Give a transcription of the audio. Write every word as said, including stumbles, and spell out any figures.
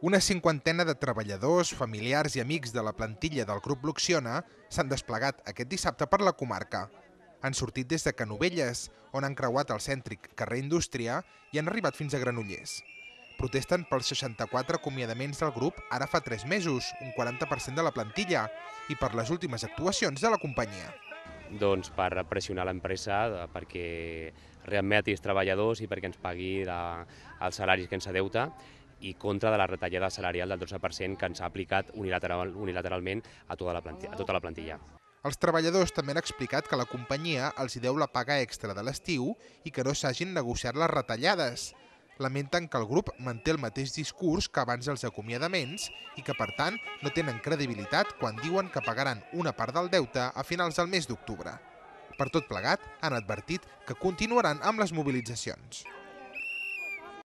Una cinquantena de treballadors, familiars i amics de la plantilla del grup Luxiona s'han desplegat aquest dissabte per la comarca. Han sortit des de Canovelles, on han creuat el cèntric carrer Indústria i han arribat fins a Granollers. Protesten pels seixanta-quatre acomiadaments del grup ara fa tres mesos, un quaranta per cent de la plantilla, i per les últimes actuacions de la companyia. Doncs per pressionar l'empresa perquè readmeti els treballadors i perquè ens pagui la, els salaris que ens adeuta, i contra de la retallada salarial del dotze per cent que ens ha aplicat unilateral, unilateralment a tota la plantilla. A tota la plantilla. Els treballadors també han explicat que la companyia els hi deu la paga extra de l'estiu i que no s'hagin negociat les retallades. Lamenten que el grup manté el mateix discurs que abans dels acomiadaments i que, per tant, no tenen credibilitat quan diuen que pagaran una part del deute a finals del mes d'octubre. Per tot plegat, han advertit que continuaran amb les mobilitzacions.